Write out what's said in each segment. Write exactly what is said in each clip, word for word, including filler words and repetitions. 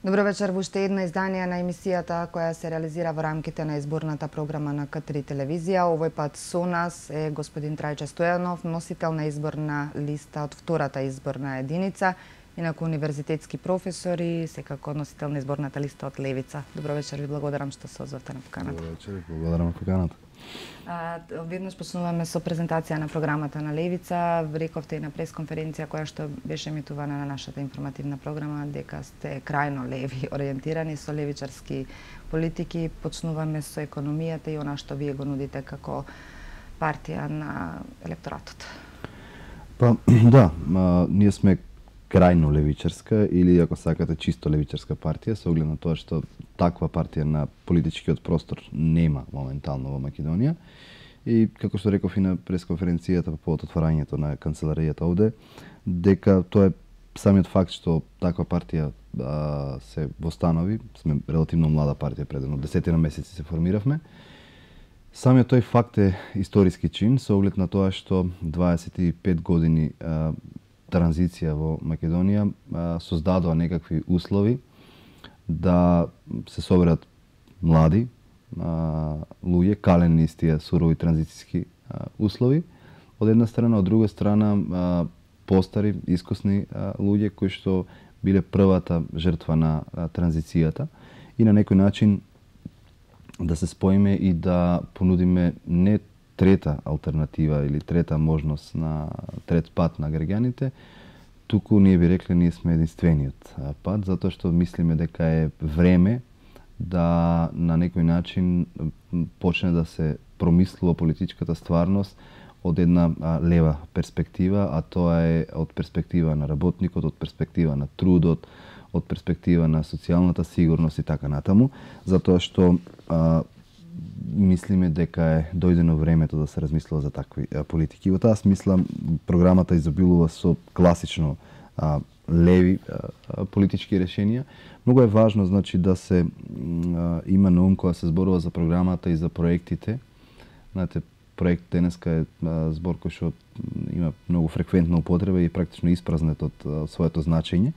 Добро вечер во уште едно издание на емисијата која се реализира во рамките на изборната програма на К три телевизија. Овој пат со нас е господин Трајче Стојанов, носител на изборна листа од втората изборна единица, инаку универзитетски професор и секако носител на изборната листа од Левица. Добро вечер, ви благодарам што се озвавте на поканата. Добро вечер, благодарам на поканата. А, веднаш почнуваме со презентација на програмата на Левица. Рековте и на пресконференција која што беше емитувана на нашата информативна програма дека сте крајно леви ориентирани со левичарски политики. Почнуваме со економијата и она што вие го нудите како партија на електоратот. Па да, а, ние сме крајно левичарска или ако сакате чисто левичарска партија, со оглед на тоа што таква партија на политичкиот простор нема моментално во Македонија. И како што реков и на пресконференцијата по повод отварањето на канцеларијата овде, дека тоа е самиот факт што таква партија а, се востанови, сме релативно млада партија, пред едно десетина месеци се формиравме. Самиот тој факт е историски чин со оглед на тоа што дваесет и пет години а, транзиција во Македонија а, создадоа некакви услови да се соберат млади а, луѓе, калени из тие сурови транзицијски а, услови, од една страна, од друга страна а, постари, искусни а, луѓе кои што биле првата жртва на а, транзицијата и на некој начин да се споиме и да понудиме не трета алтернатива или трета можност на трет пат на граѓаните, туку ние би рекле ние сме единствениот пат, затоа што мислиме дека е време да на некој начин почне да се промислува политичката стварност од една а, лева перспектива, а тоа е од перспектива на работникот, од перспектива на трудот, од перспектива на социјалната сигурност и така натаму, затоа што а, мислиме дека е дојдено времето да се размислува за такви а, политики. Во таа смисла програмата изобилува со класично а, леви а, политички решенија. Многу е важно значи да се а, има на ум кога се зборува за програмата и за проектите. Знаете, проект денеска е а, збор кој што има многу фреквентна употреба и практично испразнет од а, своето значење.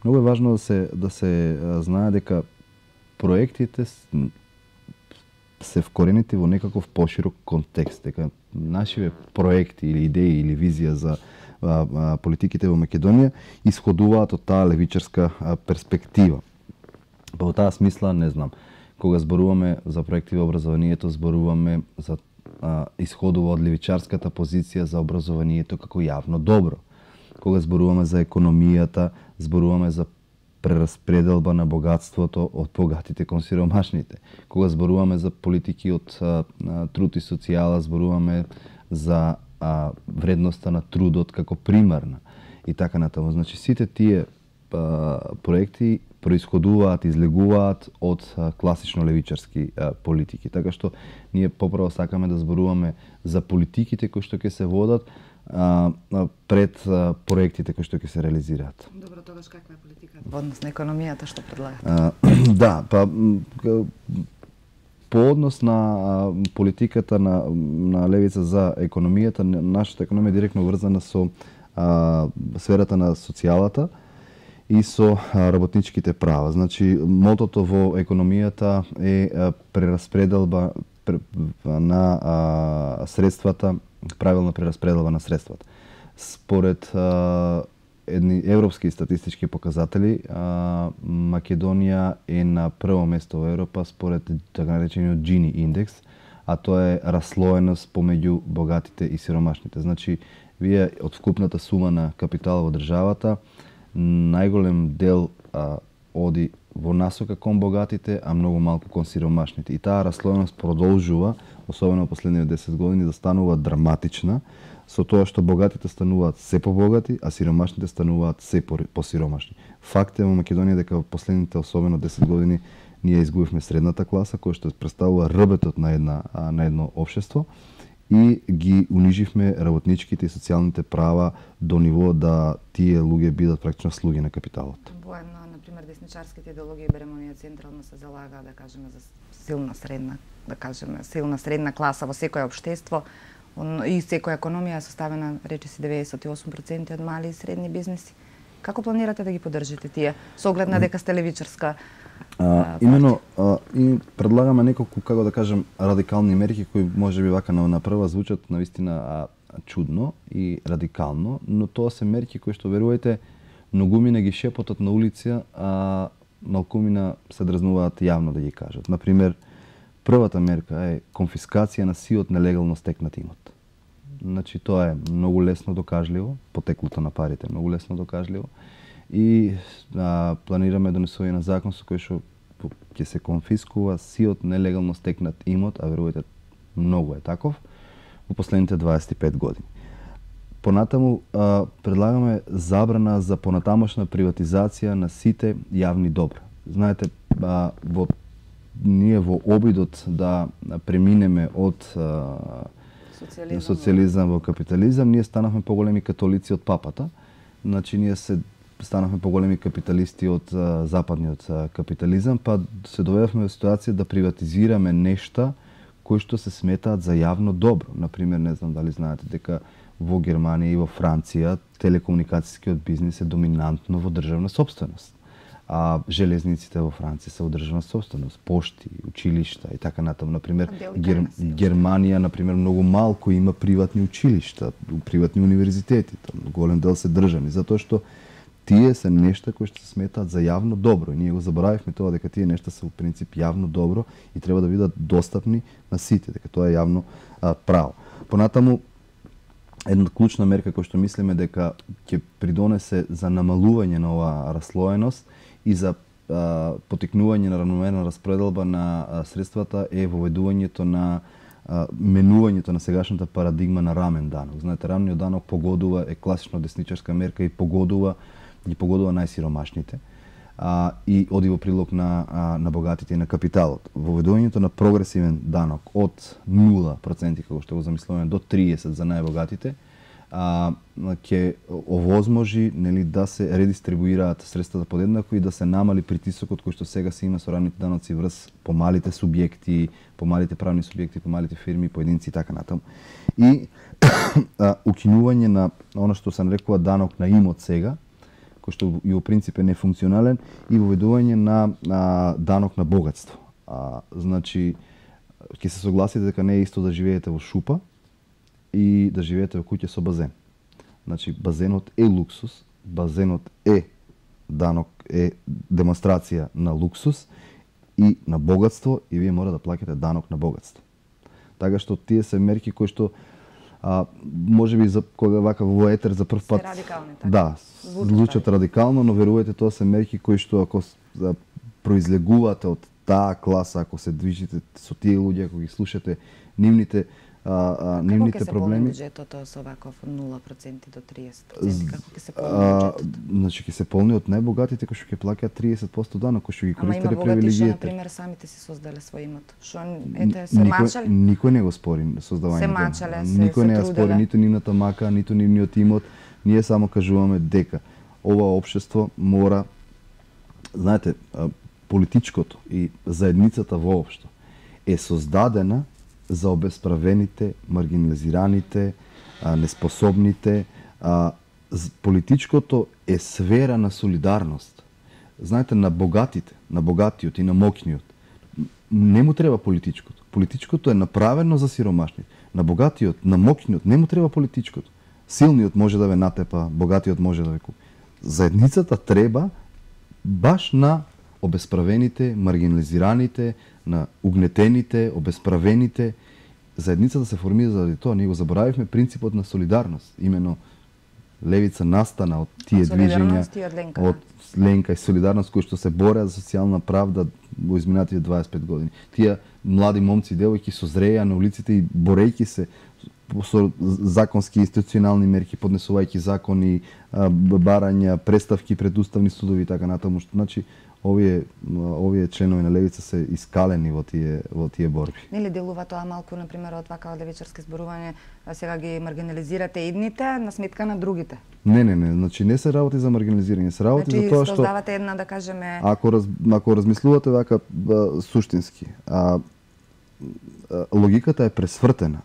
Многу е важно да се да се а, знае дека проектите се вкоренети во некаков поширок контекст, дека нашиве проекти или идеи или визија за а, а, политиките во Македонија исходуваат од таа левичарска а, перспектива. Па во таа смисла, не знам, кога зборуваме за проекти во образованието, зборуваме за а, исходува од левичарската позиција за образованието како јавно добро. Кога зборуваме за економијата, зборуваме за прераспределба на богатството од богатите кон сиромашните. Кога зборуваме за политики од а, а, труд и социјала, зборуваме за а, вредноста на трудот како примарна и така натаму. Значи сите тие а, проекти происходуваат, излегуваат од а, класично левичарски а, политики. Така што ние поправо сакаме да зборуваме за политиките кои што ќе се водат а, а, пред а, проектите кои што ќе се реализираат. Добро, тогаш каква е политиката во однос на економијата што предлагате? А, да, па по однос на а, политиката на на левица за економијата, нашата економија е директно врзана со а, сферата на социјалата и со а, работничките права. Значи, мотото во економијата е а, прераспределба пр, на а, средствата, правилна прераспределба на средствата. Според а, едни европски статистички показатели, а, Македонија е на прво место во Европа според така наречениот Джини индекс, а тоа е раслоеност помеѓу богатите и сиромашните. Значи, вие од вкупната сума на капитал во државата, најголем дел а, оди во насока кон богатите, а многу малку кон сиромашните. И таа раслоеност продолжува, особено во последните десет години, да станува драматична, со тоа што богатите стануваат се побогати, а сиромашните стануваат се посиромашни. Факт е во Македонија дека во последните особено десет години ние изгубивме средната класа, која што представува рбетот на една на едно општество и ги униживме работничките и социјалните права до ниво да тие луѓе бидат практично слуги на капиталот. Воено, например, десничарските идеологии, беремо ние централно се залага, да кажеме, за силна средна, да кажеме, силна средна класа во секое општество, и секоја економија е составена, рече си, деветдесет и осум проценти од мали и средни бизнеси. Како планирате да ги поддржите тие со оглед на дека сте левичарска? А, имено а, и предлагаме неколку, како да кажем, радикални мерки кои можеби вака на, на прва звучат навистина а, чудно и радикално, но тоа се мерки кои што верувајте многумина ги шепотат на улица, а малкумина се дразнуваат јавно да ги кажат. Например, првата мерка е конфискација на сиот нелегално стекнат имот. Значи тоа е многу лесно докажливо, потеклото на парите е многу лесно докажливо и а, планираме донесување на закон со кој што ќе се конфискува сиот нелегално стекнат имот, а верувајте многу е таков, во последните дваесет и пет години. Понатаму а, предлагаме забрана за понатамошна приватизација на сите јавни добра. Знаете, а, во ние во обидот да преминеме од а, социјализам, социјализам во капитализам, ние станавме поголеми католици од папата. Значи ние се станавме поголеми капиталисти од а, западниот а, капитализам, па се доведовме во ситуација да приватизираме нешта кои што се сметаат за јавно добро. Например, не знам дали знаете дека во Германија и во Франција телекомуникацијскиот бизнис е доминантно во државна сопственост. А железниците во Франција се во државна сопственост, пошти, училишта и така натаму. Например, Гер... Германија, например, многу малку има приватни училишта, приватни универзитети, голем дел се државни, затоа што тие се нешта кои што се сметаат за јавно добро. И ние го заборавивме тоа дека тие нешта се во принцип јавно добро и треба да бидат достапни на сите, дека тоа е јавно а, право. Понатаму, една клучна мерка која што мислиме дека ќе придонесе за намалување на оваа раслоеност и за а, потикнување на равномерна распределба на а, средствата е воведувањето на а, менувањето на сегашната парадигма на рамен данок. Знаете, рамниот данок погодува, е класично десничарска мерка и погодува ги погодува најсиромашните а, и оди во прилог на, а, на богатите и на капиталот. Воведувањето на прогресивен данок од нула проценти, како што го замислуваме, до триесет за најбогатите, а, ќе овозможи, нели, да се редистрибуираат средствата подеднако и да се намали притисокот кој што сега се има со рамните даноци врз помалите субјекти, помалите правни субјекти, помалите фирми, поединци и така натаму. И а, укинување на она што се нарекува данок на имот сега, кој што и во принцип е нефункционален, и воведување на, на данок на богатство. А, значи, ќе се согласите дека не е исто да живеете во шупа и да живеете во куќа со базен. Значи, базенот е луксус, базенот е данок, е демонстрација на луксус и на богатство, и вие мора да плаќате данок на богатство. Така што тие се мерки кои што а, може би за кога вака во етер за прв пат радикални, така. Да, звучат радикално, но верувајте, тоа се мерки кои што ако да, произлегувате од таа класа, ако се движите со тие луѓе, ако ги слушате нивните а, а, нивните проблеми. Како ќе се полни буџетот со ваков нула проценти до триесет проценти? Како ќе се полни буџетот? Значи ќе се полни од најбогатите кои што ќе плаќаат триесет проценти данок, кои што ги користеле привилегиите. Ама има богати што, например, самите си создале свој имот. Што ете се никој, мачале? Никој не го спори создавањето. Се мачале, се Никој не се ја спори ниту нивната мака, ниту нивниот имот. Ние само кажуваме дека ова општество мора, знаете, политичкото и заедницата воопшто е создадена за обесправените, маргинализираните, неспособните. Политичкото е сфера на солидарност. Знаете, на богатите, на богатиот и на мокниот не му треба политичкото. Политичкото е направено за сиромашните. На богатиот, на мокниот не му треба политичкото. Силниот може да ве натепа, богатиот може да ве купи. Заедницата треба баш на обесправените, маргинализираните, на угнетените, обесправените. Заедницата се формира заради тоа. Ние го заборавивме принципот на солидарност. Имено левица настана од тие движења, од Ленка и солидарност, кои што се бореа за социјална правда во изминатите дваесет и пет години. Тие млади момци и девојки созреа на улиците и борејќи се со законски институционални мерки, поднесувајќи закони, барања, преставки пред уставни судови и така натаму. Значи, овие овие членови на левица се искалени во тие во тие борби. Нели делува тоа малку, на пример, од вака левичарски зборување, сега ги маргинализирате едните на сметка на другите? Не, не, не, значи не се работи за маргинализирање, се работи значи, за тоа што создавате една, да кажеме, ако раз, ако размислувате вака а, суштински, а, а, логиката е пресвртена.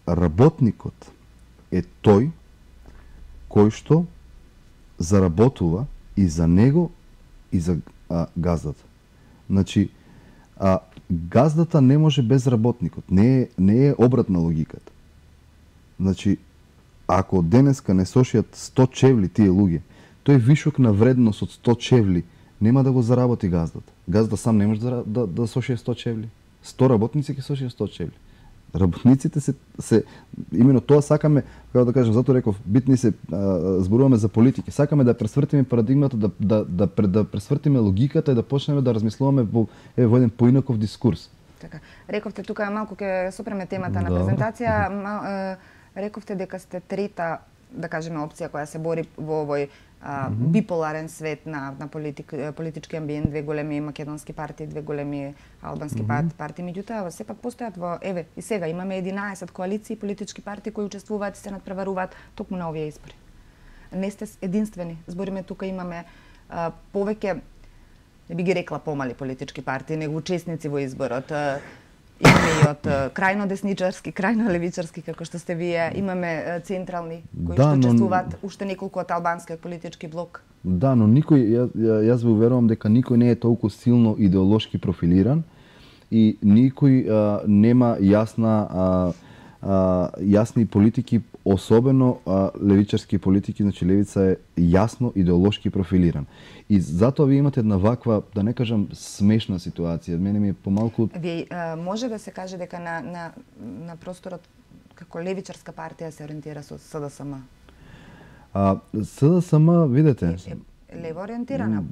Работникот е тој кој што заработува и за него и за а, газдата. Значи, а, газдата не може без работникот. Не е, не е обратна логиката. Значи, ако денеска не сошијат сто чевли тие луѓе, тој вишок на вредност од сто чевли нема да го заработи газдата. Газда сам не може да, да, да сошие сто чевли. сто работници ќе сошијат сто чевли. Работниците се, се имено тоа сакаме, како да кажем, затоа реков, битни се а, зборуваме за политики. Сакаме да пресвртиме парадигмата, да да да, да, да пресвртиме логиката и да почнеме да размислуваме во е во еден поинаков дискурс. Така. Рековте тука малку ќе сопреме темата на Да. презентација, ма, е, рековте дека сте трета, да кажеме, опција која се бори во овој а, биполарен свет на, на политик, политички амбиент, две големи македонски партии, две големи албански mm -hmm. партии, меѓутоа сепак постојат во, еве, и сега имаме единаесет коалиции политички партии кои учествуваат и се надпреваруваат токму на овие избори. Не сте единствени. Збориме тука имаме а, повеќе, не би ги рекла помали политички партии, него учесници во изборот. А, имаме и од крајно десничарски, крајно левичарски, како што сте вие, имаме централни кои Да, што но- учествуваат, уште неколку од албанскиот политички блок. Да, но никој, ја, ја, јас ве уверувам дека никој не е толку силно идеолошки профилиран и никој а, нема јасна а, а, јасни политики, особено а, левичарски политики, значи левица е јасно идеолошки профилиран. И затоа ви имате една ваква, да не кажам смешна ситуација. Мене ми е помалку Вие а, може да се каже дека на на на просторот како левичарска партија се ориентира со СДСМ. а СДСМ, видете, Е, е лево ориентирана.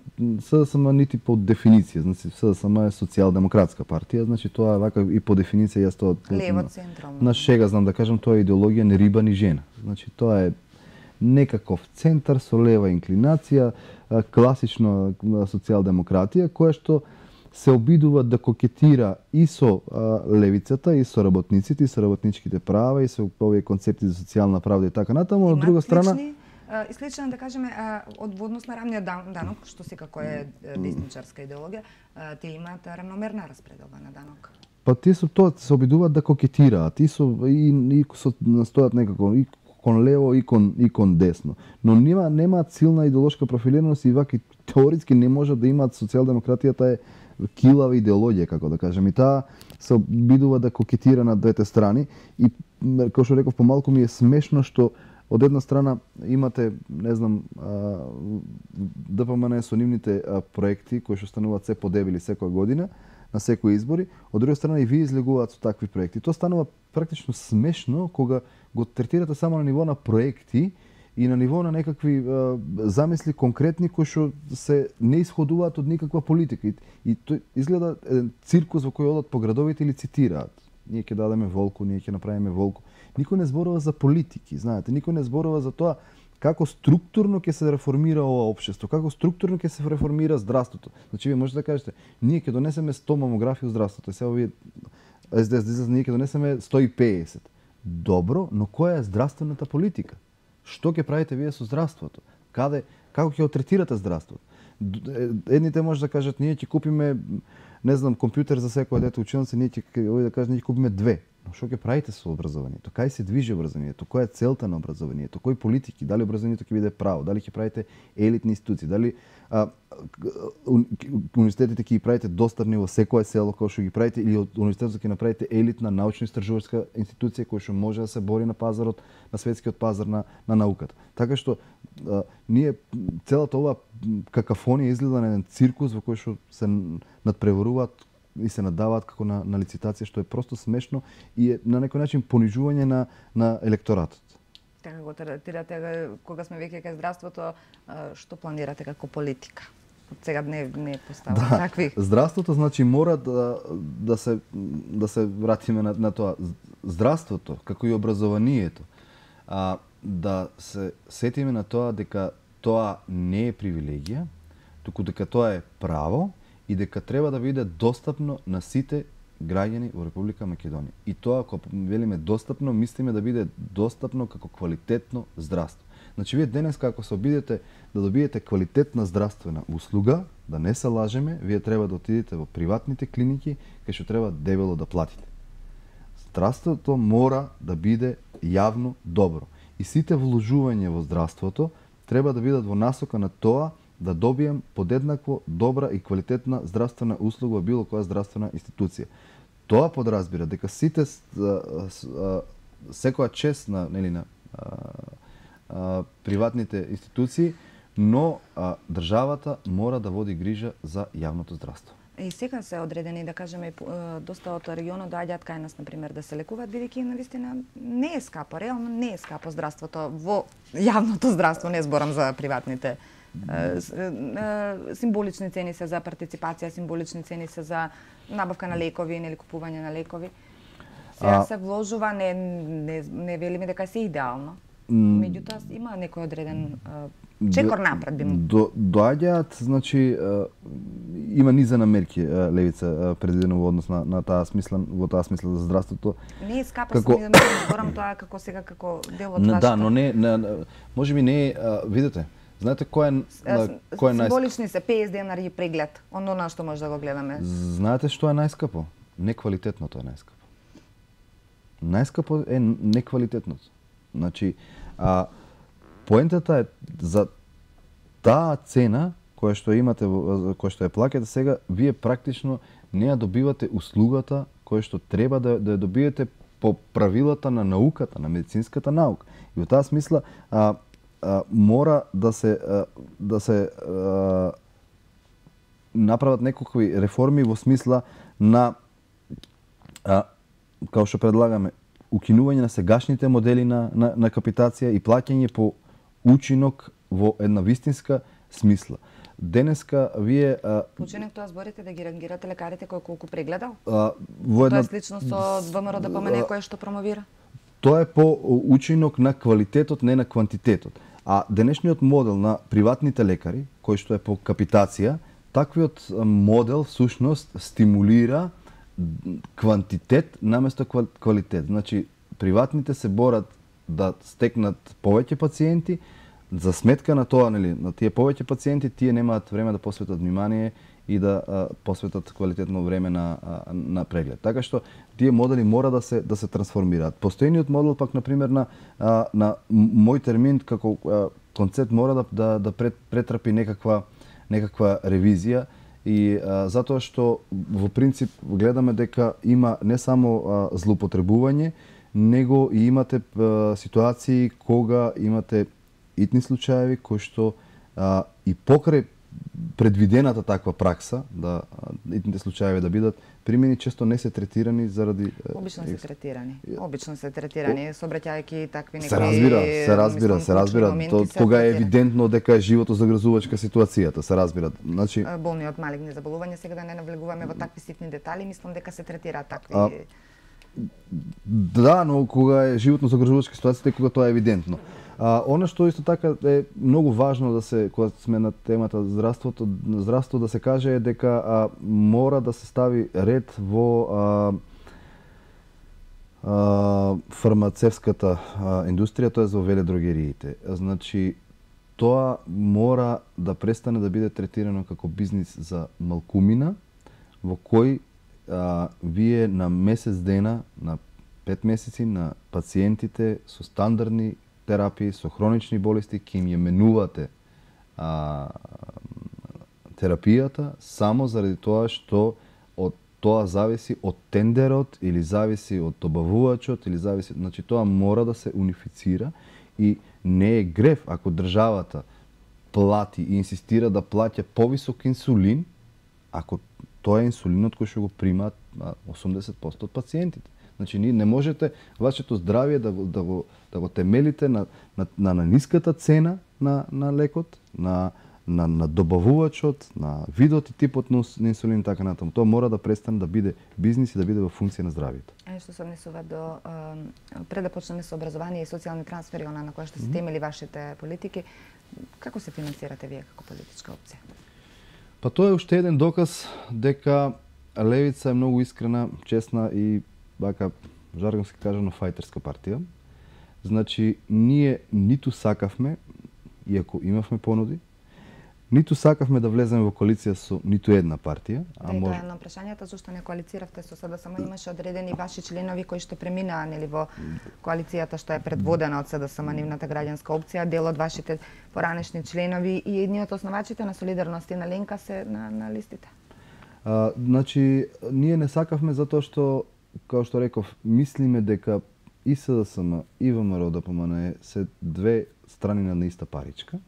СДСМ нити по дефиниција, значи СДСМ е социјалдемократска партија, значи тоа е вака и по дефиниција јас тоа Лево централно. на шега знам да кажам, тоа е идеологија ни риба ни жена. Значи тоа е некаков центар со лева инклинација, а, класично а, социјалдемократија, која што се обидува да кокетира и со а, левицата, и со работниците, и со работничките права, и со овие концепти за социјална правда и така натаму. Од друга страна, слични, а, и слична, да кажеме, а, од во однос на рамниот дан- данок, што секако е е, десничарска идеологија, а, тие имаат рамномерна распределба на данок. па тие со тоа се обидуваат да кокетираат и со и, и со настојат некако и кон лево и кон и кон десно. Но нема немаат силна идеолошка профилираност и ваки теоретски не можат да имаат социјалдемократијата е килава идеологија, како да кажем. И таа се обидува да кокетира на двете страни и м, како што реков, помалку ми е смешно што од една страна имате, не знам, а, ДПМН со нивните а, проекти кои што стануваат се подебили секоја година на секои избори, од друга страна и вие излегуваат со такви проекти. Тоа станува практично смешно кога го третирате само на ниво на проекти и на ниво на некакви а, замисли конкретни кои што се не исходуваат од никаква политика. И, и тој изгледа еден циркус во кој одат по градовите и цитираат. Ние ќе дадеме волку, ние ќе направиме волку. Никој не зборува за политики, знаете, никој не зборува за тоа како структурно ќе се реформира ова општество, како структурно ќе се реформира здравството. Значи вие можете да кажете, ние ќе донесеме сто мамографии во здравството, сега вие Ес Де Ес излезе, ние ќе донесеме сто и педесет. Добро, но која е здравствената политика? Што ќе правите вие со здравството? Каде, како ќе го третирате здравството? Д- Едните може да кажат, ние ќе купиме, не знам, компјутер за секој дете училница, ние ќе овој да кажат, ние ќе купиме две. Но што ќе правите со образованието? Кај се движи образованието? Која е целта на образованието? Кои политики? Дали образованието ќе биде право? Дали ќе правите елитни институции? Дали а, уни- универзитетите ќе ги правите достапни во секое село кој што ги правите, или од универзитетот ќе направите елитна научно-истражувачка институција која што може да се бори на пазарот, на светскиот пазар на, на науката. Така што а, ние целата ова какафонија изгледа на еден циркус во кој што се надпреваруваат и се надаваат како на, на лицитација, што е просто смешно и е на некој начин понижување на, на електоратот. Така го третирате кога сме веќе кај здравството, а, што планирате како политика? Од сега не не поставам Да, такви. здравството значи мора да да се да се вратиме на, на тоа. Здравството, како и образованието, а, да се сетиме на тоа дека тоа не е привилегија, туку дека тоа е право и дека треба да биде достапно на сите граѓани во Република Македонија. И тоа, ако велиме достапно, мислиме да биде достапно како квалитетно здравство. Значи, вие денес, како се обидете да добиете квалитетна здравствена услуга, да не се лажеме, вие треба да отидете во приватните клиники, кај што треба дебело да платите. Здравството мора да биде јавно добро. И сите вложувања во здравството треба да бидат во насока на тоа да добием подеднакво добра и квалитетна здравствена услуга во било која здравствена институција. Тоа подразбира дека сите секоја чест на нели на а, а, приватните институции, но а, државата мора да води грижа за јавното здравство. И сега се одредени, да кажеме, доста од регионот доаѓаат кај нас, например, да се лекуваат, бидејќи навистина не е скапо, реално не е скапо здравството во јавното здравство, не зборам за приватните. Символични цени се за партиципација, символични цени се за набавка на лекови, нели купување на лекови. Сега се вложува, не, не, не велиме дека се идеално. Меѓутоа има некој одреден чекор напред би му. До, доаѓаат, значи има низа на мерки левица предвидено во однос на, на таа смисла, во таа смисла за здравството. Не е скапо, како... сам да зборам тоа како сега како дел од вашето. Да, но не, не можеби не, видете. Знаете кој е кој е најскапо? Символични се петдесет денари преглед, оно на што може да го гледаме. Знаете што е најскапо? Неквалитетното е најскапо. Најскапо е неквалитетното. Значи, а поентата е за таа цена која што имате, која што ја плаќате сега, вие практично не ја добивате услугата која што треба да, да ја добиете по правилата на науката, на медицинската наука. И во таа смисла а, а, мора да се а, да се а, направат некакви реформи во смисла на а, како што предлагаме, укинување на сегашните модели на, на, на капитација и плаќање по учинок во една вистинска смисла. Денеска вие... А, учинок тоа зборите да ги рангирате лекарите кој колку прегледал? А, во една... Тоа е слично со ВМРО да помене кој што промовира? Тоа е по учинок на квалитетот, не на квантитетот. А денешниот модел на приватните лекари, кој што е по капитација, таквиот модел всушност стимулира квантитет наместо квалитет. Значи, приватните се борат да стекнат повеќе пациенти, за сметка на тоа, нели, на тие повеќе пациенти, тие немаат време да посветат внимание и да а, посветат квалитетно време на а, на преглед. Така што тие модели мора да се да се трансформираат. Постојниот модел пак на пример на а, на мој термин како а, концепт мора да да, да пред, претрпи некаква некаква ревизија. И а, затоа што во принцип гледаме дека има не само а, злоупотребување, него и имате а, ситуации кога имате итни случаеви кои што а, и покрај предвидената таква пракса да итните случаеви да бидат примени, често не се третирани заради обично се третирани. Обично се третирани сообраќајќи такви некои се разбира, се разбира, се разбира. То, тога е евидентно дека е живото загрозувачка ситуацијата, се разбира. Значи болни од малигни заболувања, сега да не навлегуваме во такви ситни детали, мислам дека се третираат такви. А, да, но кога е животно загрозувачка ситуација, кога тоа е евидентно. А, она што исто така е многу важно да се, кога сме на темата здравството, здравство да се каже е дека а, мора да се стави ред во а, а, фармацевската а, индустрија, тоа е за веледрогериите. Значи, тоа мора да престане да биде третирано како бизнис за малкумина, во кој а, вие на месец дена, на пет месеци на пациентите со стандардни терапии, со хронични болести, ке им ја менувате а, терапијата само заради тоа што од тоа зависи од тендерот или зависи од добавувачот или зависи, значи тоа мора да се унифицира и не е грев ако државата плати и инсистира да плаќа повисок инсулин, ако тоа е инсулинот кој што го примаат осумдесет проценти од пациентите. Значи, не можете вашето здравје да го, да го, да го темелите на, на, на, на ниската цена на, на лекот, на, на, на добавувачот, на видот и типот на инсулин и така натаму. Тоа мора да престане да биде бизнис и да биде во функција на здравјето. Е, што се однесува до, пред да почнеме со образование и социјални трансфери, она на која што се темели вашите политики, како се финансирате вие како политичка опција? Па тоа е уште еден доказ дека левица е многу искрена, честна и бака жаргонски кажано фајтерска партија. Значи, ние ниту сакавме, иако имавме понуди, Ниту сакавме да влеземе во коалиција со ниту една партија, а да, може... тоа е на прашањето зошто не коалициравте со СДСМ, имаше одредени ваши членови кои што преминаа нели во коалицијата што е предводена од СДСМ, нивната граѓанска опција, дел од вашите поранешни членови и едни од основачите на Солидарност и на Ленка се на, на листите. А, значи, ние не сакавме затоа што, како што реков, мислиме дека и СДСМ и ВМРО да ДПМН се две страни на иста паричка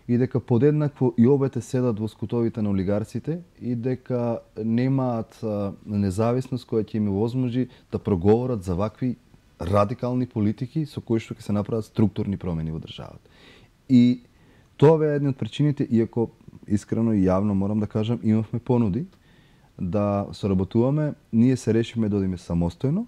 и дека подеднакво и обете седат во скутовите на олигарците и дека немаат независност која ќе им возможи да проговорат за вакви радикални политики со кои што ќе се направат структурни промени во државата. И тоа бе една од причините, иако искрено и јавно морам да кажам, имавме понуди да соработуваме, ние се решиме да одиме самостојно.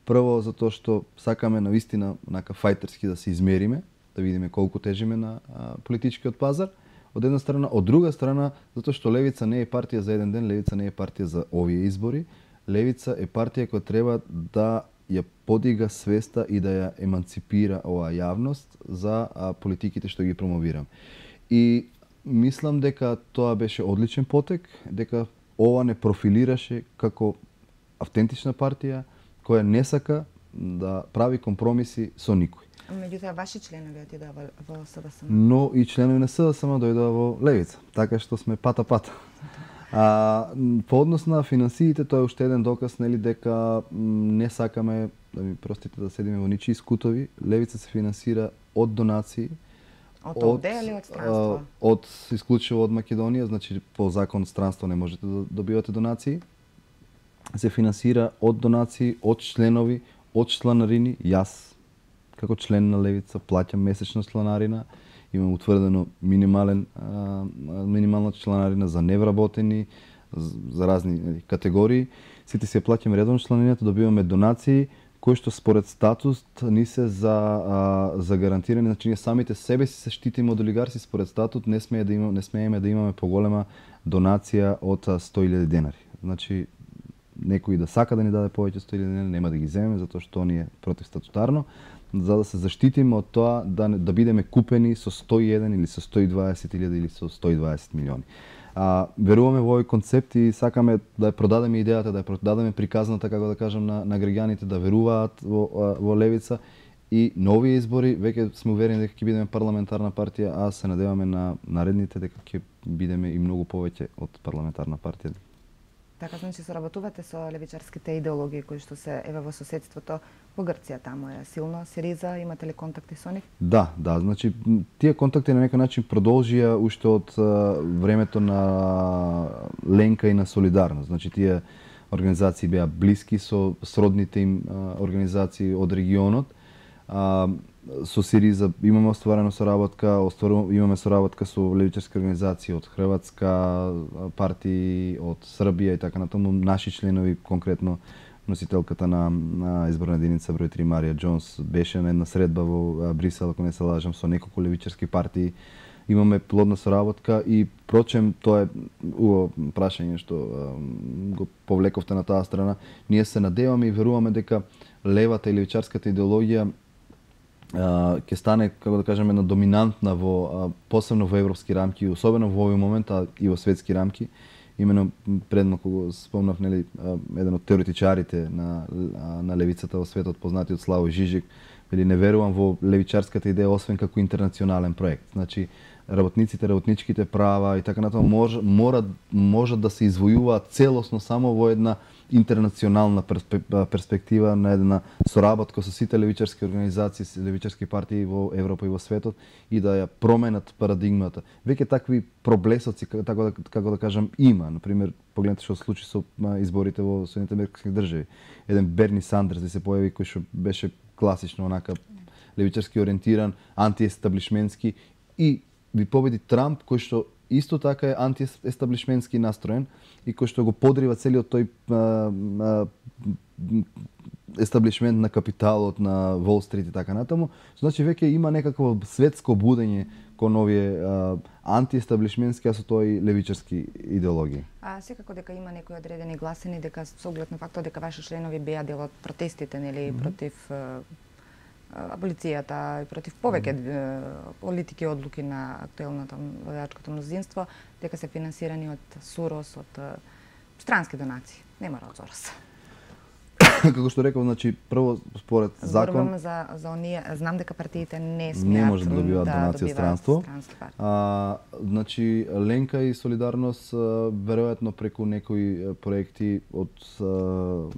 Прво затоа што сакаме навистина нака фајтерски да се измериме, да видиме колку тежиме на а, политичкиот пазар. Од една страна, од друга страна, затоа што Левица не е партија за еден ден, Левица не е партија за овие избори. Левица е партија која треба да ја подига свеста и да ја еманципира оваа јавност за а, политиките што ги промовирам. И мислам дека тоа беше одличен потек, дека ова не профилираше како автентична партија која не сака да прави компромиси со никој. Меѓутоа ваши членови отидоа во, во СДСМ. Но и членови на СДСМ дојдоа во Левица, така што сме пата-пата. А, по однос на финансиите, тоа е уште еден доказ, нели, дека не сакаме, да ми простите, да седиме во ничии скутови. Левица се финансира од донации. Од овде или од странство? Од, исклучиво од Македонија, значи по закон странство не можете да добивате донации. Се финансира од донации, од членови, од чланарини. Јас како член на Левица плаќам месечна чланарина, имам утврдено минимален а, минимална чланарина за невработени, за разни категории. Сите си ја плаќаме редовно чланарината, добиваме донации кои што според статус ни се за а, за гарантирани, значи ние самите себе си се штитиме од олигарси, според статут не смее да имаме не смееме да имаме поголема донација од сто илјади денари. Значи некој да сака да ни даде повеќе сто илјади денари, нема да ги земеме затоа што он е противстатутарно, за да се заштитиме од тоа да да бидеме купени со сто и еден или со сто и дваесет илјади или со сто и дваесет милиони. А, веруваме во овој концепт и сакаме да ја продадеме идејата, да ја продадеме приказната, како да кажам, на, на граѓаните да веруваат во, во Левица и на овие избори веќе сме уверени дека ќе бидеме парламентарна партија, а се надеваме на наредните дека ќе бидеме и многу повеќе од парламентарна партија. Така, значи соработувате со левичарските идеологии кои што се еве во соседството во Грција, таму е силно Сириза, имате ли контакти со нив? Да, да, значи тие контакти на некој начин продолжија уште од времето на Ленка и на Солидарност. Значи тие организации беа блиски со сродните им организации од регионот. А, со Сириза имаме остварено соработка, остваруваме имаме соработка со левичарски организации од Хрватска, партии од Србија и така натаму. Наши членови, конкретно носителката на, на изборна единица број три Марија Џонс беше на една средба во Брисел, ако не се лажам, со неколку левичарски партии. Имаме плодна соработка и прочем тоа е убаво прашање што го повлековте на таа страна. Ние се надеваме и веруваме дека левата и левичарската идеологија ќе стане, како да кажеме, една доминантна во посебно во европски рамки, особено во овој момент, а и во светски рамки. Имено предмалку го спомнав, нели, еден од теоретичарите на на левицата во светот, познатиот Славој Жижик, вели не верувам во левичарската идеја освен како интернационален проект. Значи работниците, работничките права и така натаму може мора можат да се извојуваат целосно само во една интернационална перспектива на една соработка со сите левичарски организации, левичарски партии во Европа и во светот и да ја променат парадигмата. Веќе такви проблесоци, како да, како да кажам, има. Например, погледнете што се случи со изборите во Соединетите американски држави. Еден Берни Сандерс да се појави кој што беше класично онака левичарски ориентиран, антиестаблишментски и ви победи Трамп кој што исто така е антиестаблишментски настроен и кој што го подрива целиот тој а, а, естаблишмент на капиталот на Wall Street и така натаму. Значи веќе има некакво светско будење кон овие а, антиестаблишментски, а со тоа и левичарски идеологии. А секако дека има некои одредени гласини дека со оглед на фактот дека ваши членови беа дел од протестите, нели, mm -hmm. против а, аболицијата и против повеќе политики и одлуки на актуелното владачкото мнозинство, дека се финансирани од Сорос, од странски донации. Нема од Сорос. Како што реков, значи прво според закон Зборувам за за оние, знам дека партиите не смеат не може да добиваат да донација странство. А, значи Ленка и Солидарност веројатно преку некои проекти од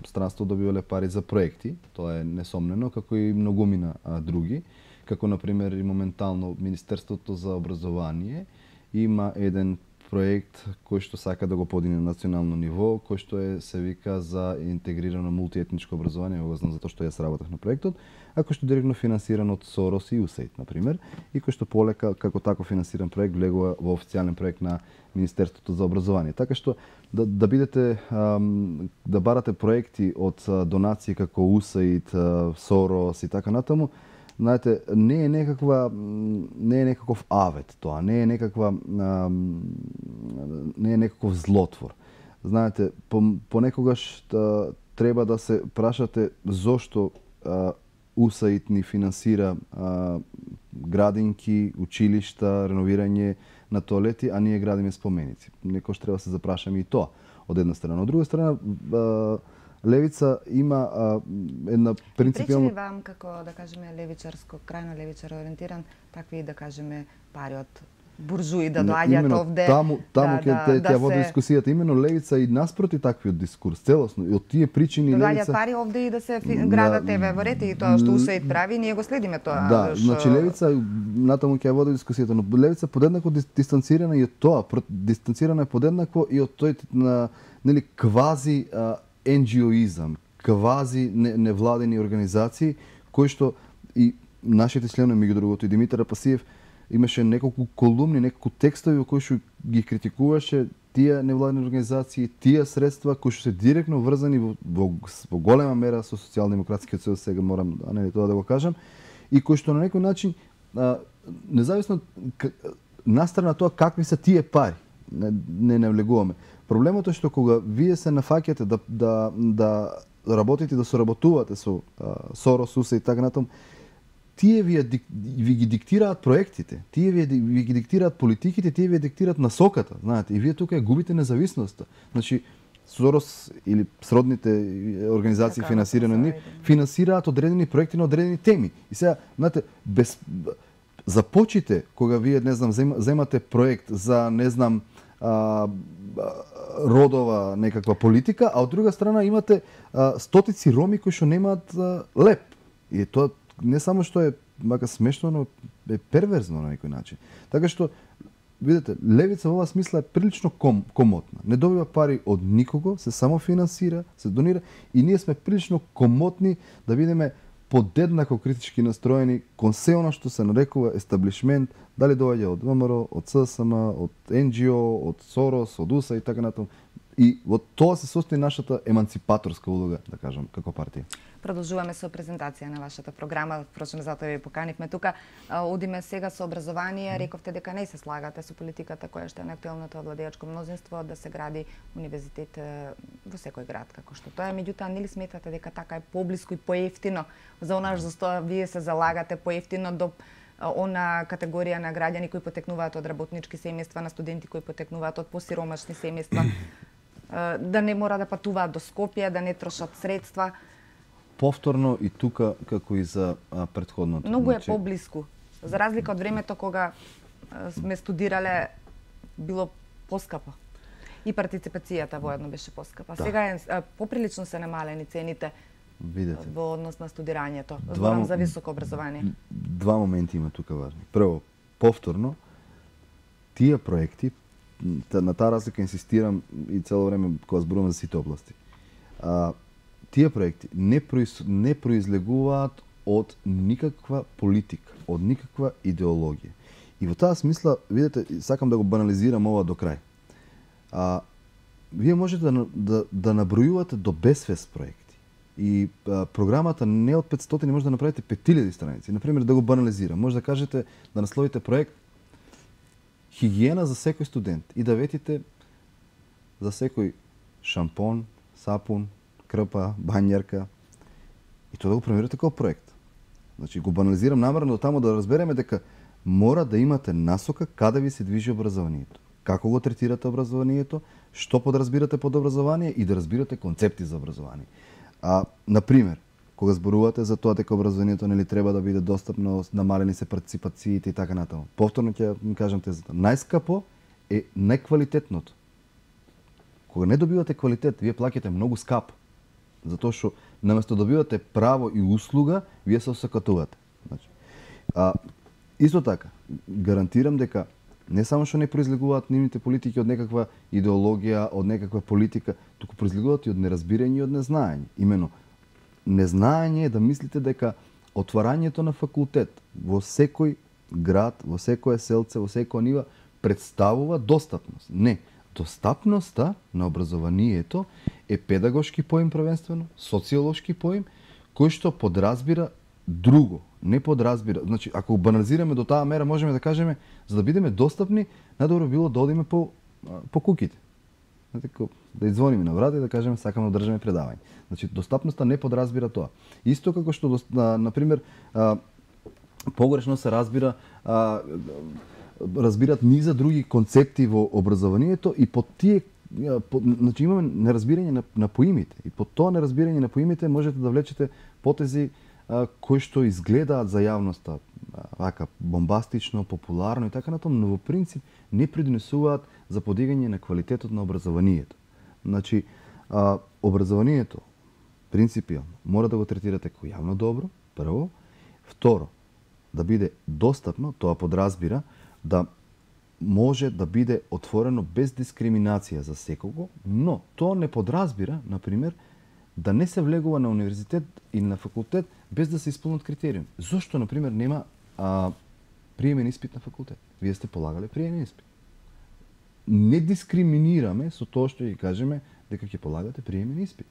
странство добивале пари за проекти, тоа е несомнено, како и многумина а, други, како на пример и моментално Министерството за образование има еден проект кој што сака да го подигне на национално ниво, кој што е се вика за интегрирано мултиетничко образование, го знам затоа што јас работев на проектот, а кој што директно финансиран од Сорос и ю ес ей ай ди, на пример, и кој што полека како тако финансиран проект влегува во официјален проект на Министерството за образование. Така што да, да бидете ам, да барате проекти од донации како ю ес ей ай ди, Сорос и така натаму, знаете, не е некаква не е некаков авет тоа, не е некаква не е некаков злотвор. Знаете, понекогаш да, треба да се прашате зошто ю ес ей ай ди ни финансира а, градинки, училишта, реновирање на тоалети, а ние градиме споменици. Некош треба да се запрашаме и тоа од една страна. Од друга страна, а, Левица има а, една принципијална... Пречи ли вам, како да кажеме левичарско, крајно левичаро ориентиран, такви да кажеме пари од буржуи да доаѓаат овде? Таму, таму да, ке да, те, да тја води се... дискусијата, именно Левица и наспроти таквиот дискурс, целосно, и од тие причини да Левица... доаѓаат пари овде и да се градат еве во ред и тоа што ю ес ей ай ди прави, ние го следиме тоа. Да, шо... значи Левица натаму ќе води дискусијата, но Левица подеднакво дистанцирана и од тоа, дистанцирана е подеднакво и од тој на нели квази а, енџиоизам, квази невладени организации, кои што и нашите членови, меѓу другото и Димитар Апасиев, имаше неколку колумни, неколку текстови во кои што ги критикуваше тие невладени организации, тие средства кои што се директно врзани во, во, во голема мера со социјалдемократскиот сојуз, сега морам а не тоа да го кажам, и кои што на некој начин а, независно настрана тоа какви се тие пари, не, не навлегуваме. Проблемот е што кога вие се нафаќате да да да работите да соработувате со а, Сорос, ю ес ей ай ди и така натаму, тие ви, ви ги диктираат проектите, тие ви, ви ги диктираат политиките, тие ви диктираат насоката, знаете, и вие тука губите независноста. Значи Сорос или сродните организации така, финансирани од нив финансираат одредени проекти на одредени теми. И сега, знаете, без започите кога вие не знам земате проект за не знам а, родова некаква политика, а од друга страна имате а, стотици роми кои што немаат а, леп. И тоа не само што е мака смешно, но е перверзно на некој начин. Така што видите, Левица во оваа смисла е прилично ком, комотна. Не добива пари од никого, се само финансира, се донира и ние сме прилично комотни да бидеме подеднако критички настроени кон се она што се нарекува естаблишмент, дали доаѓа од ВМР, од ССМ, од енџио, од Сорос, од ю ес ей ай ди и така натаму. И во тоа се состои нашата еманципаторска улога, да кажам, како партија. Продолжуваме со презентација на вашата програма, впрочем затоа ви поканивме тука. Одиме сега со образование. Рековте дека не се слагате со политиката која што е на актуелното владеачко мнозинство да се гради универзитет во секој град како што тоа е. Меѓутоа, нели сметате дека така е поблиску и поевтино за онаш за што вие се залагате, поевтино до она категорија на граѓани кои потекнуваат од работнички семејства, на студенти кои потекнуваат од посиромашни семејства, да не мора да патуваат до Скопје, да не трошат средства. Повторно и тука, како и за а, предходното. Многу е значи... поблиску. За разлика од времето кога а, сме студирале, било поскапо. И партиципацијата воедно беше поскапа. Да. Сега е а, поприлично се намалени цените. Видете. Во однос на студирањето. Зборам за високо образование. Два моменти има тука важни. Прво, повторно, тие проекти, на таа разлика инсистирам и цело време кога зборувам за сите области. А, тие проекти не, произ, не произлегуваат од никаква политика, од никаква идеологија. И во таа смисла, видите, сакам да го банализирам ова до крај. А, вие можете да, да, да набројувате до безвест проекти. И а, програмата не од петстотини може да направите пет илјади страници. Например, да го банализирам, може да кажете, да насловите проект хигиена за секој студент и да ветите за секој шампон, сапун, крпа, бањарка и тоа да го премирате како проект. Значи го банализирам намерно таму да разбереме дека мора да имате насока каде ви се движи образованието. Како го третирате образованието, што подразбирате под образование и да разбирате концепти за образование. А, например, кога зборувате за тоа дека образованието нели треба да биде достапно, намалени се партиципациите и така натаму. Повторно ќе ми кажам тезата. Најскапо е неквалитетното. Кога не добивате квалитет, вие плаќате многу скапо. Затоа што наместо добивате право и услуга, вие се осакатувате. Значи, а, исто така, гарантирам дека не само што не произлегуваат нивните политики од некаква идеологија, од некаква политика, туку произлегуваат и од неразбирање и од незнаење. Имено, незнаење е да мислите дека отварањето на факултет во секој град, во секое селце, во секоја нива представува достапност. Не. Достапноста на образованието е педагошки поим првенствено, социолошки поим, кој што подразбира друго, не подразбира. Значи, ако банализираме до таа мера, можеме да кажеме, за да бидеме достапни, најдобро било да одиме по, по куките. Да извониме на врата и да кажеме сакаме да држиме предавање. Значи, достапноста не подразбира тоа. Исто како што, на пример, погрешно се разбира, разбират низа други концепти во образованието и под тие по, значи имаме неразбирање на, на поимите и под тоа неразбирање на поимите можете да влечете потези а, кои што изгледаат за јавноста вака бомбастично, популарно и така натаму, но во принцип не придонесуваат за подигање на квалитетот на образованието. Значи, а, образованието принципиално мора да го третирате како јавно добро, прво, второ, да биде достапно, тоа подразбира да може да биде отворено без дискриминација за секого, но тоа не подразбира, например, да не се влегува на универзитет или на факултет без да се исполнат критериуми. Зошто, например, нема а, приемен испит на факултет? Вие сте полагале приемен испит. Не дискриминираме со тоа што ќе кажеме дека ќе полагате приемен испит.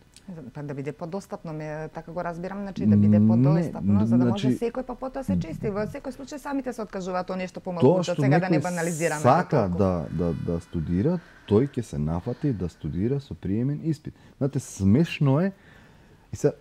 Па да биде подостапно, ме така го разбирам, значи да биде подостапно, не, за да може значи, секој па потоа се чисти. Во секој случај самите се откажуваат тоа нешто помалку, од сега да не банализираме. Сака да да да студира, тој ќе се нафати да студира со приемен испит. Знаете, смешно е. И се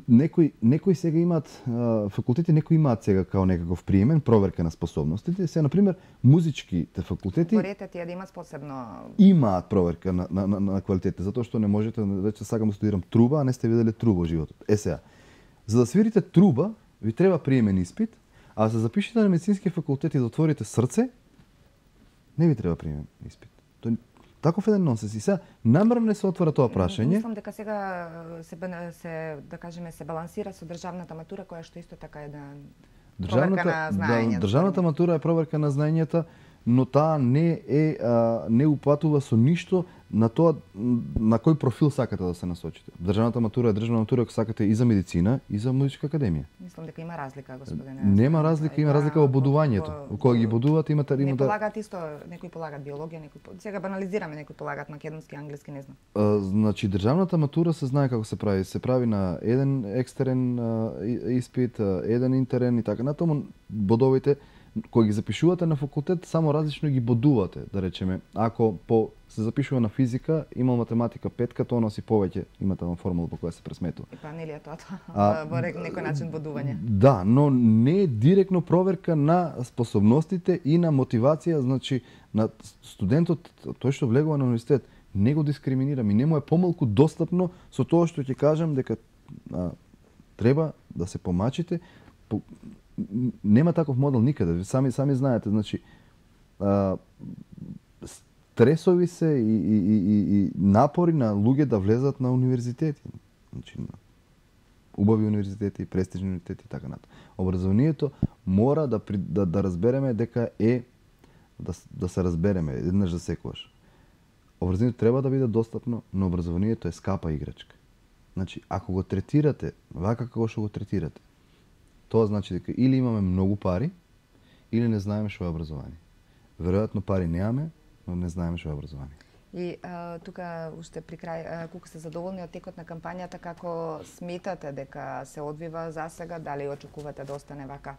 некои некои сега имаат факултети, некои имаат сега као некаков приемен проверка на способностите. Се на пример музичките факултети Борете тие да имаат посебно имаат проверка на на на, на квалитетите, затоа што не можете да речете сакам да студирам труба, а не сте виделе труба во животот. Е сега, за да свирите труба, ви треба приемен испит, а за да запишете на медицински факултет и да отворите срце, не ви треба приемен испит. Тој таков еден нонсенс. И сега намерно не се отвора тоа прашање. Мислам дека сега се, се да кажеме се балансира со државната матура која што исто така е да проверка на знаењето. Да, државната матура е проверка на знаењата, но таа не е а, не упатува со ништо на тоа на кој профил сакате да се насочите. Државната матура е државна матура ако сакате и за медицина и за музичка академија. Мислам дека има разлика, господине. Нема разлика, има разлика во бодувањето. Кога ги бодуват имате не полагаат исто, некои полагаат биологија, некои сега банализираме, некои полагаат македонски, англиски, не знам. А, значи државната матура се знае како се прави, се прави на еден екстерен а, испит, а, еден интерен и така натаму бодовите кои ги запишувате на факултет, само различно ги бодувате, да речеме. Ако по се запишува на физика, имал математика петка, тоа носи повеќе, има таа формула по која се пресметува. И па нели е тоа тоа, во некој начин бодување. Да, но не е директно проверка на способностите и на мотивација, значи на студентот, тој што влегува на универзитет, не го дискриминирам и не му е помалку достапно со тоа што ќе кажам дека а, треба да се помачите. По, нема таков модел никаде. Сами сами знаете, значи а, стресови се и, и, и, и напори на луѓе да влезат на универзитети. Значи на убави универзитети, престижни универзитети и така натаму. Образованието мора да, да да разбереме дека е да да се разбереме еднаш за секогаш. Образованието треба да биде достапно, но образованието е скапа играчка. Значи, ако го третирате вака како што го третирате, тоа значи дека или имаме многу пари, или не знаеме што е образование. Веројатно пари немаме, но не знаеме што е образование. И а, тука уште при крај, колку сте задоволни од текот на кампањата, како сметате дека се одвива за сега, дали очекувате да остане вака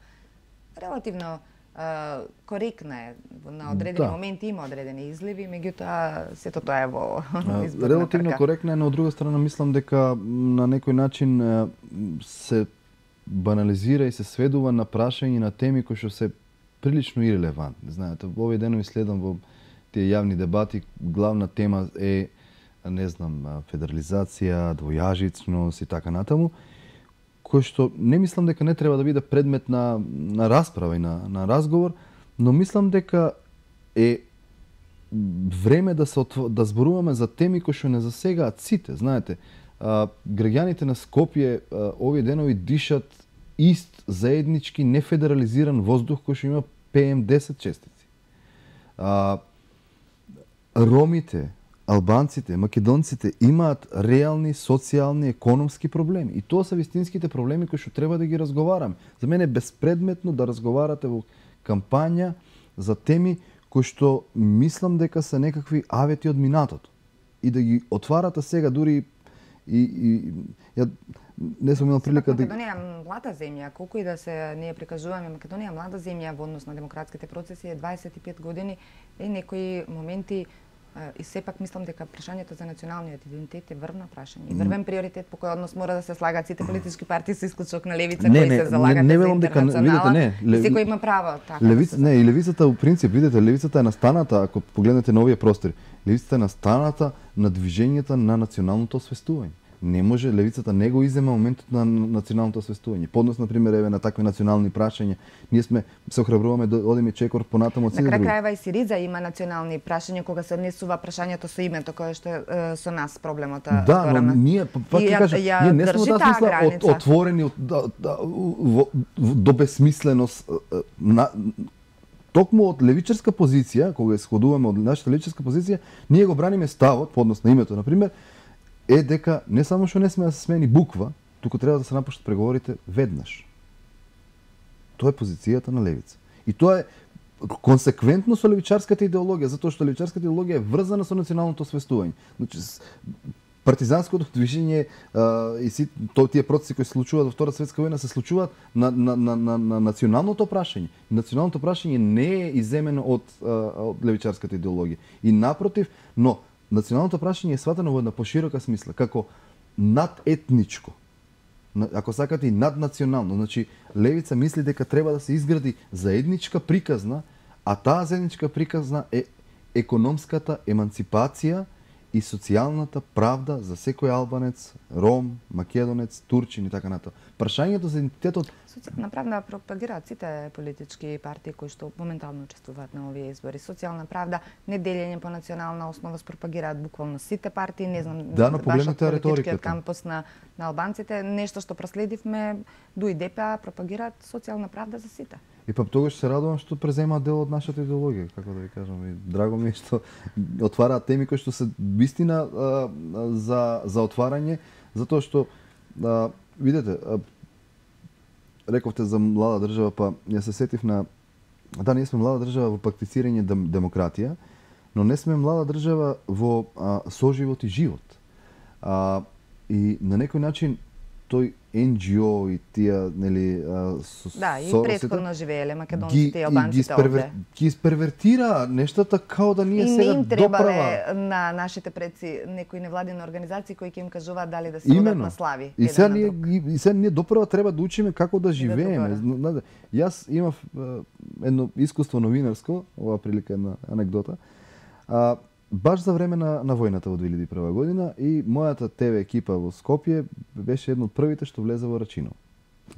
релативно а, коректна е, на одредени да. моменти има одредени изливи, меѓутоа сето тоа е во изборна релативно трка. Коректна е, но од друга страна мислам дека на некој начин се банализира и се сведува на прашање на теми кои што се прилично ирелевантни. Знаете, овие денови следам во тие јавни дебати, главна тема е, не знам, федерализација, двојажичност и така натаму, кој што не мислам дека не треба да биде предмет на, на расправа и на, на разговор, но мислам дека е време да се отв... да зборуваме за теми кои што не засегаат сите. Знаете, а, граѓаните на Скопје а, овие денови дишат ист заеднички нефедерализиран воздух кој што има Пе Ем десет честици. А, ромите, албанците, македонците имаат реални социјални, економски проблеми. И тоа се вистинските проблеми кои што треба да ги разговараме. За мене е безпредметно да разговарате во кампања за теми кои што мислам дека се некакви авети од минатото. И да ги отварате сега дури и, и ја не сум имал прилика да... Македонија е млада земја, колку и да се ние прикажуваме, Македонија е млада земја во однос на демократските процеси, е дваесет и пет години, и некои моменти и сепак мислам дека прашањето за националниот идентитет е врвна прашање. И врвен приоритет по кој однос мора да се слагаат сите политички партии со исклучок на левица кои се залагат не, не, за видите, интернационала. не, и секој има право така. Левица, не, и левицата во принцип, видите, левицата е настаната, ако погледнете на овие простори, левицата е настаната на движењето на националното освестување. Не може, левицата не го изема моментот на националното освестување. Поднос, например, еве на такви национални прашања, ние сме се охрабруваме да одиме чекор понатаму од сите други. На крај крајва и Сириза има национални прашања кога се однесува прашањето со името кое што е со нас проблемот. Да, но ние пак ќе кажам, ние не сме да смисла от, отворени от, да, да, во, до безсмисленост на токму од левичарска позиција, кога исходуваме од нашата левичарска позиција, ние го браниме ставот, поднос на името, например, е дека не само што не сме да се смени буква, туку треба да се напуштат преговорите веднаш. Тоа е позицијата на левица. И тоа е консеквентно со левичарската идеологија, затоа што левичарската идеологија е врзана со националното освестување. Значи, партизанското движење а, и си, то, тие процеси кои се случуваат во Втората светска војна се случуваат на, на, на, на, на националното прашање. Националното прашање не е иземено од, а, од левичарската идеологија. И напротив, но националното прашање е сватено во една поширока смисла, како надетничко. Ако сакате и наднационално. Значи, левица мисли дека треба да се изгради заедничка приказна, а таа заедничка приказна е економската еманципација и социјалната правда за секој албанец, ром, македонец, турчин и така натаму. Прашањето за идентитетот... Социјална правда пропагираат сите политички партии кои што моментално учествуваат на овие избори. Социјална правда, неделење по национална основа пропагираат буквално сите партии, не знам, да, но погледнете политичкиот кампус на, на албанците, нешто што проследивме, ду и Де Пе А пропагираат социјална правда за сите. И па тогаш се радувам што преземаат дел од нашата идеологија, како да ви кажам. И драго ми е што отвараат теми кои што се вистина а, за за отварање, затоа што а, видете, а, рековте за млада држава, па ја се сетив на да, ние сме млада држава во практицирање дем, демократија, но не сме млада држава во а, соживот и живот. А, и на некој начин тој Ен Џи О и тие, нели, со, да, и со, претходно живееле македонците и албанците овде. Ги испервертира нештата као да ние сега доправа. И не им требале на нашите предци некои невладини организации кои ќе им кажуваат дали да се родат на слави. И сега ние, и сега ние доправа треба да учиме како да живееме. Да Јас имав едно искуство новинарско, ова прилика една анекдота. А, Баш за време на, на војната во две илјади и прва година и мојата Те Ве екипа во Скопје беше едно од првите што влезе во Рачиново.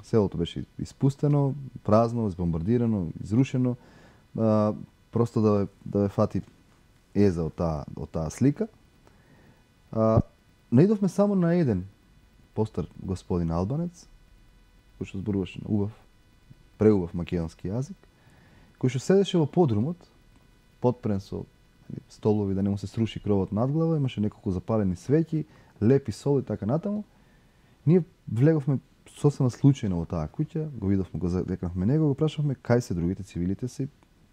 Селото беше испустено, празно, збомбардирано, изрушено. А, просто да ве, да ве фати еза од таа од таа слика. А, наидовме само на еден постар господин албанец, кој што зборуваше на убав, преубав македонски јазик, кој што седеше во подрумот, подпрен со столови да не му се сруши кровот надглава, имаше неколку запалени свеќи, лепи сол и така натаму. Ние влеговме сосема случајно во таа куќа, го видовме, го задекнавме него, го прашавме кај се другите, цивилите се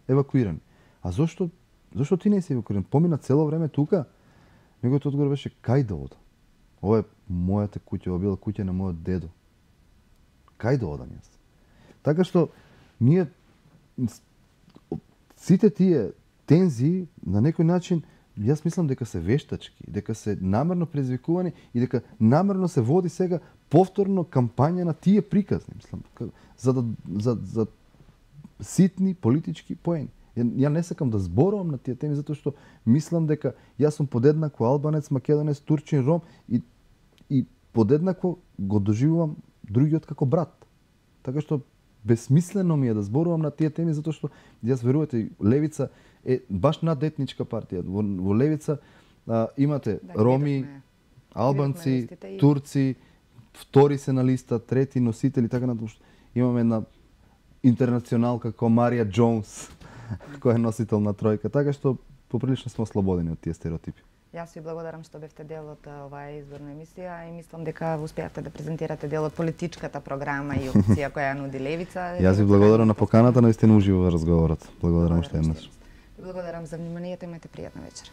евакуирани. А зошто зошто ти не си евакуиран? Помина цело време тука. Неговиот одговор беше кај да одам? Ова е мојата куќа, ова била куќа на мојот дедо. Кај да одам јас? Така што ние сите тие тензии на некој начин Јас мислам дека се вештачки, дека се намерно предизвикувани и дека намерно се води сега повторно кампања на тие приказни, мислам, за да за за ситни политички поени. Ја, ја не сакам да зборувам на тие теми затоа што мислам дека јас сум подеднакво албанец, македонец, турчин, ром и и подеднакво го доживувам другиот како брат. Така што безсмислено ми е да зборувам на тие теми затоа што јас верувате левица е баш надетничка партија. Во, во левица а, имате да, роми, видохме, албанци, видохме турци, втори се на листа, трети носители, така натаму. Имаме една интернационалка како Марија Джонс, која е носител на тројка, така што поприлично сме ослободени од тие стереотипи. Јас ви благодарам што бевте дел од оваа изборна емисија и мислам дека успеавте да презентирате дел од политичката програма и опција која ја нуди левица. Јас ви благодарам на поканата, наистина уживо во разговорот. Благодарам уште еднаш. Благодарам за вниманието, имајте пријатна вечер.